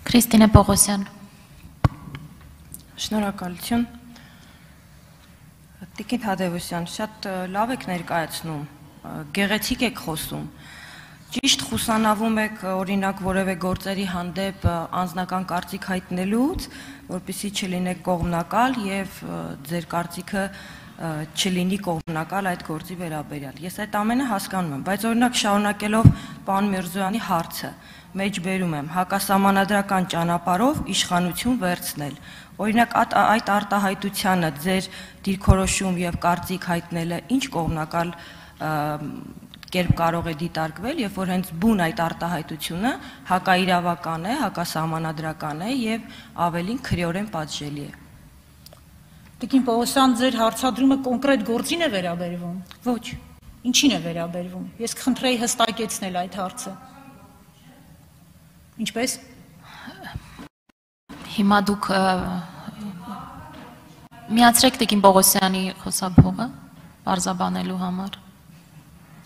Քրիստինե Պողոսյան։ Շնորհակալություն։ Տիկին Թադևոսյան, շատ լավ եք ներկայացնում, գեղեցիկ եք խոսում։ Ճիշտ խուսանավում եք օրինակ որևէ գործերի հանդեպ անձնական կարծիք հայտնելուց, որպեսզի չլինեք կողմնակալ եւ ձեր կարծիքը չլինի կողմնակալ այդ գործի վերաբերյալ։ Ես այդ ամենը հասկանում եմ, բայց օրինակ շարունակելով պարոն Միրզոյանի հարցը, մեջբերում եմ հակասահմանադրական ճանապարհով իշխանություն վերցնել։ Օրինակ այդ արտահայտությանը ձեր դիրքորոշում եւ կարծիք հայտնելը ինչ կողմնակալ կերպ կարող է դիտարկվել, երբ որ հենց բուն այդ արտահայտությունը հակաիրավական է, հակասահմանադրական է եւ ավելին քրեորեն պատժելի է։ Տիկին Պողոսյան, ձեր հարցադրումը կոնկրետ գործին է վերաբերվում։ Ոչ։ Ինչին է վերաբերվում։ Ես կխնդրեի հստակեցնել այդ հարցը։ Ինչպես։ Հիմա դուք միացրեք Տիկին Պողոսյանի խոսափողը բարձաբանելու համար։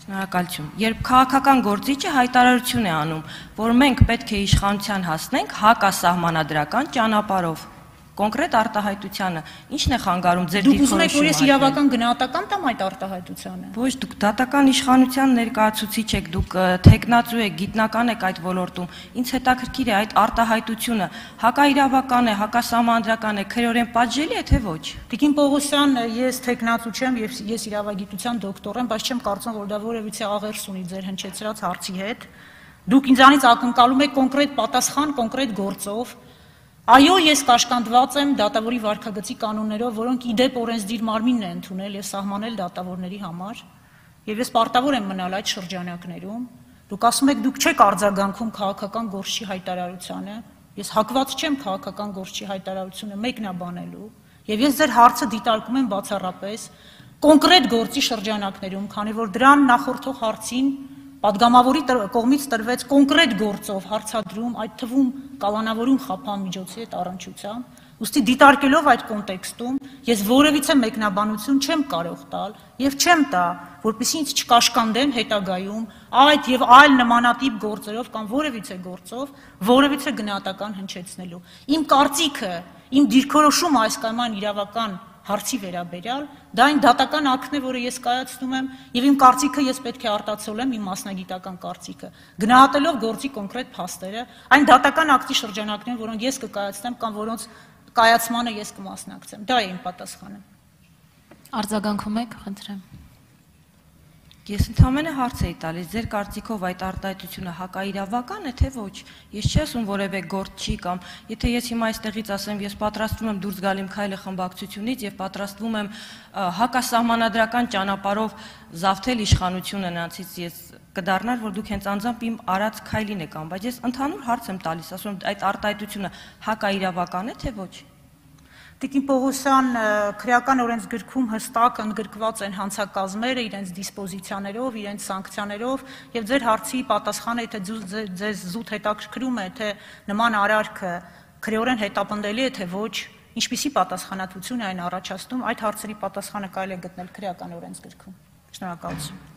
Շնորհակալություն։ Երբ քաղաքական գործիչը հայտարարություն է անում, որ մենք պետք է իշխանության հասնենք հակասահմանադրական ճանապարհով, կոնկրետ արտահայտությանը, ի՞նչն է խանգարում ձեր դիրքորոշումը։ Դուք ուզում եք, որ ես իրավական գնահատական տամ այդ արտահայտությանը։ Ոչ, դուք դատական իշխանության ներկայացուցիչ եք, դուք թեկնածու եք, գիտնական եք այդ ոլորտում։ Ինձ հետաքրքիր է այդ արտահայտությունը հակաիրավական է, հակասահմանադրական է, քրեորեն պատժելի է, թե ոչ։ Տիկին Պողոսյան, ես թեկնածու չեմ, ես իրավագիտության դոկտոր եմ, բայց չեմ կարծում, որ դա որևիցե աղերս ունի ձեր հնչեցրած հարցի հետ։ Դուք ինձանից ակնկալում եք կոնկրետ պատասխան, կոնկրետ գործով։ Այո, ես կաշկանդված եմ դատավորի վարքագծի կանոններով, որոնք իդեպ օրենսդիր մարմինն է ընդունել եւ սահմանել դատավորների համար, եւ ես պարտավոր եմ մնալ այդ շրջանակներում։ Դուք ասում եք, դուք չեք արձագանքում քաղաքական գործչի հայտարարությանը, ես հակված չեմ քաղաքական գործչի հայտարարությունը մեկնաբանելու, եւ ես ձեր հարցը դիտարկում եմ բացառապես կոնկրետ գործի շրջանակներում, քանի որ դրան նախորդող հարցին պատգամավորի կողմից տրվեց կոնկրետ գործով հարցադրում, այդ թվում կալանավորում խափամիջոցի հետ առնչությամբ, ուստի դիտարկելով այդ կոնտեքստում, ես որևիցե մեկնաբանություն չեմ կարող տալ եւ չեմ տա, որպեսզի ինձ չկաշկանդեն հետագայում այդ եւ այլ նմանատիպ գործերով կամ որևիցե գործով որևիցե գնահատական հնչեցնելու։ Իմ կարծիքը, իմ դիրքորոշումը այս կամ այն իրավական հարցի վերաբերյալ, դա այն դատական ակտն է, որը ես կայացնում եմ, եւ իմ կարծիքը ես պետք է արտացոլեմ իմ մասնագիտական կարծիքը, գնահատելով գործի կոնկրետ փաստերը, այն դատական ակտի շրջանակներում, որոնք ես կկայացնեմ կամ որոնց կայացմանը ես կմասնակցեմ։ Դա է իմ պատասխանը։ Արձագանքում եք, խնդրեմ։ Ես ընդհանրապես հարց էի տալիս, ձեր կարծիքով այդ արտահայտությունը հակաիրավական է, թե ոչ։ Ես չի ասում որևէ գործ չի կամ եթե ես հիմա այստեղից ասեմ, ես պատրաստվում եմ դուրս գալ իմ քայլը խմբակցությունից եւ պատրաստվում եմ հակասահմանադրական ճանապարհով զավթել իշխանությունը նրանցից, ես կդառնար, որ դուք հենց անձամբ իմ արած քայլին եք անում, բայց ես ընդհանուր հարց եմ տալիս, ասում եմ այդ արտահայտությունը հակաիրավական է, թե ոչ։ Տիկին Պողոսյան, քրեական օրենսգրքում հստակ ընդգրկված են հանցակազմերը իրենց դիսպոզիցիաներով, իրենց սանկցիաներով եւ ձեր հարցի պատասխանը, եթե ձեզ զուտ հետաքրքրում է, թե նման արարքը քրեորեն հետապնդելի է, թե ոչ, ինչպիսի պատասխանատվություն է այն առաջացնում, այդ հարցերի պատասխանը կարելի է գտնել քրեական օրենսգրքում։ Շնորհակալություն։